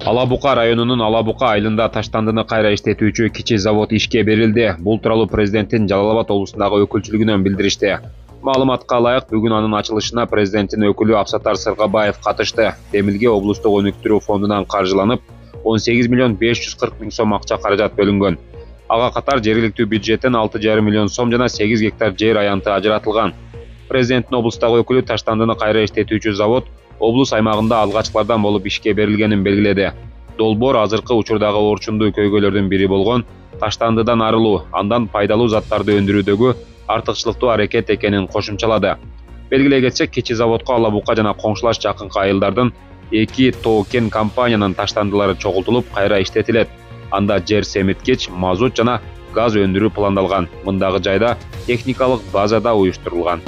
Ала Бука районунун Ала Бука айылында таштандыны кайра иштетүүчү кичи завод ишке берилди. Бул тууралуу президенттин Жалал Абад облусундагы өкүлчүлүгүнөн билдиришти. Маалыматка ылайык, бүгүн анын ачылышына президенттин өкүлү Абсаттар Сыргабаев катышты. Демилге облустук өнүктүрүү фондунан каржыланып, 18 миллион 540 миң сом акча каражат бөлүнгөн. Ага катар жергиликтүү бюджеттен 6,5 миллион сом жана 8 гектар жер аянты ажыратылган. Президенттин облустагы өкүлү таштандыны кайра иштетүүчү завод облус аймагында алгачкылардан болуп ишке берилгенин белгиледи. Долбоор азыркы учурдагы орчундуу көйгөйлөрдүн бири болгон таштандыдан арылуу, андан пайдалуу заттарды өндүрүүдөгү артыкчылыктуу аракет экенин кошумчалады. Белгилей кетсек, кичи заводко Ала Бука жана коңшулаш жакынкы айылдардын 2 тоо-кен компаниянын таштандылары чогултулуп кайра иштетилет. Анда жер семиткич, мазут жана газ өндүрүү пландалган. Мындагы жайда техникалык база да уюштурулган.